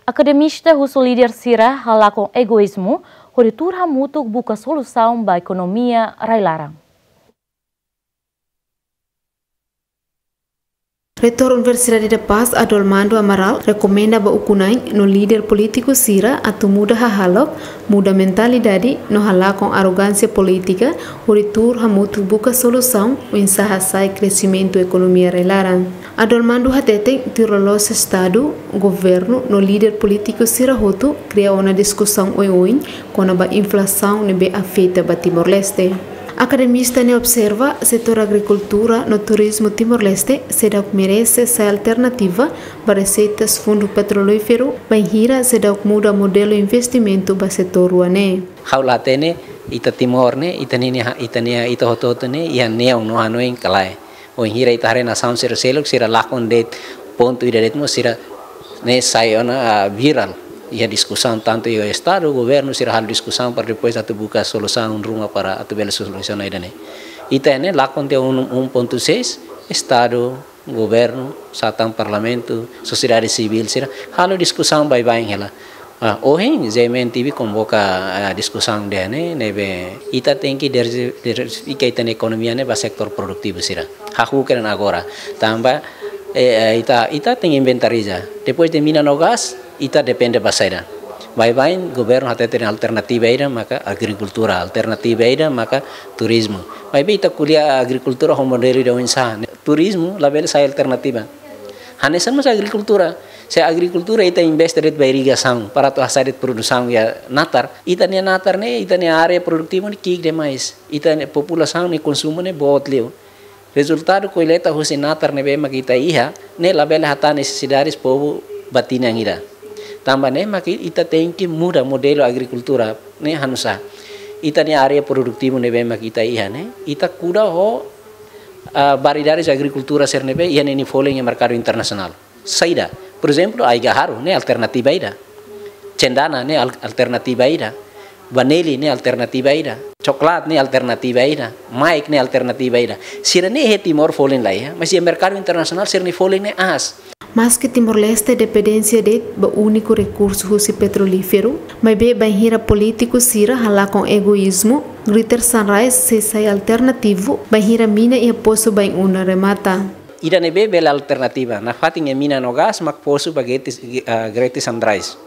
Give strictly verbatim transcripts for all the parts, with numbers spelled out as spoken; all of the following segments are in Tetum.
Akademista husu líder sira halakon egoízmu, hodi tuur hamutuk buka solusaun ba ekonomia rai-laran. Reitór Universidade da Paz, Adolmando Amaral, rekomenda ba ukun-na'in no líder polítiku sira atu muda hahalok, muda mentalidade no halakon arrogánsia polítika, hodi tuur hamutuk buka solusaun oinsá hasa'e kresimentu ekonomia rai-laran. Adolmando hateten, tuir loloos Estadu, governu no líder polítiku sira hotu kria ona diskusaun oioin kona-ba inflasaun ne'ebé afeta ba Timor-Leste. Akademista ne'e observa, setór agrikultura no turizmu Timor-Leste seidauk merese sai alternativa ba reseitas fundu petrolíferu, bainhira seidauk muda modelu investimentu ba setór rua ne'e. Ha'u la hatene, ita Timor ne'e, ita ninia, ita-nia, ita hotu-hotu ne'e iha neon no hanoin ka lae. Bainhira ita haree nasaun sira seluk, sira lakon de'it pontu ida de'it mós sira ne'e sai ona, ah, virál. Iha diskusaun tantu iha Estadu, governu sira halo diskusaun para depois atu buka solusaun ruma para atu bele solusiona ida-ne'e. Ita ne'e lakon tiha un, un pontu seis, Estadu, governu, sá tan parlamentu, sosiedade sivíl sira halo diskusaun baibain hela. Ah, ohin, G M N T V konvoka, ah, diskusaun ida-ne'e, ne'ebé ita tenke diver-, diversifika ita-nia ekonomia ne'e ba setór produtivu sira. Hahú keren agora. Tanba, eh, eh, ita, ita tenke inventariza. Depois de mina no gás, ita depende ba saida. Baibain, governu hateten alternativa ida maka agrikultura, alternativa ida maka turizmu. Maibé ita ko'alia agrikultura ho modelu ida oinsá. Turizmu labele sai alternativa. Hanesan mós agrikultura. Se agrikultura ita investe de'it ba irrigasaun para atu hasa'e de'it produsaun iha natar, ita-nia natar ne'e, ita-nia área produtivu ne'e ki'ik demais. Ita-nia populasaun nia konsumu ne'e boot liu. Rezultadu kolleita husi natar ne'ebé mak ita iha ne'e labele hatán nesesidades povu ba tinan ida. Tanba ne'e mak ita tenke muda modelu agrikultura ne'e hanu'usá. Ita-nia área produtivu ne'ebé mak ita iha ne'e, ita kuda ho, ah, variedades agrikultura sira ne'ebé iha ninia folin iha merkadu internasionál. Saida, por ezemplu, ai-gaharu ne'e alternativa ida. Cendana ne'e al-, alternativa ida. Vaneli ne'e alternativa ida. Coklat ne'e alternativa ida. Maik ne'e alternativa ida. Sira-ne'e iha Timor folin la iha, mas iha merkadu internasionál sira-nia folin ne'e aas. Maske Timor-Leste dependénsia de'it ba úniku rekursu husi petrolíferu, maibé bainhira polítiku sira halakon egoízmu, Greater Sunrise sei sai alternativu bainhira mina iha posu bainuna remata. Ida ne'ebé bele alternativa, nafatin iha mina no gás mak posu ba Greater, ah, Greater Sunrise.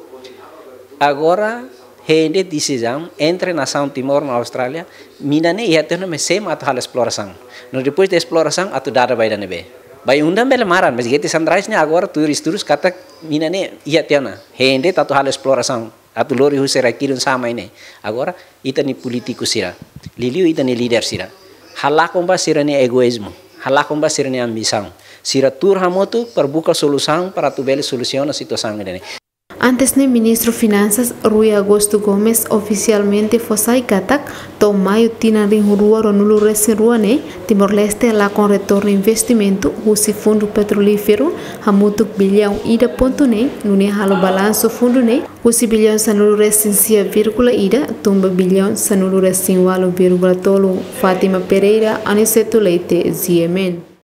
Agora, hein de'it desizaun entre nasaun Timor no Austrália, mina ne'e iha tiha ona, mas sé mak atu halo esplorasaun. No depois de esplorasaun, atu dada ba ida ne'ebé. Bainuna bele maran, mas Greater Sunrise ne'e agora tuir estudu katak mina ne'e iha tiha ona. Hein de'it atu halo esplorasaun, atu lori husi rai-kidun sá mai ne'e. Agora, ita-nia polítiku sira, liuliu ita-nia líder sira, halakon ba sira-nia egoízmu, halakon ba sira-nia ambisaun. Sira tuur hamutuk para buka solusaun para atu bele solusiona situasaun ida-ne'e. Antes ne'e, Ministru Finansas Rui Augusto Gomes ofisialmente fó sai katak, to'o maiu tinan rihun rua ruanulu resin rua ne'e, Timor-Leste lakon retornu investimentu husi fundu petrolíferu hamutuk billaun ida pontu neen, nune'e halo balansu fundu ne'e husi billaun sanulu resin sia vírgula ida tun ba billaun sanulu resin ualu vírgula tolu. Fátima Pereira, Aniceto Leite, G M N.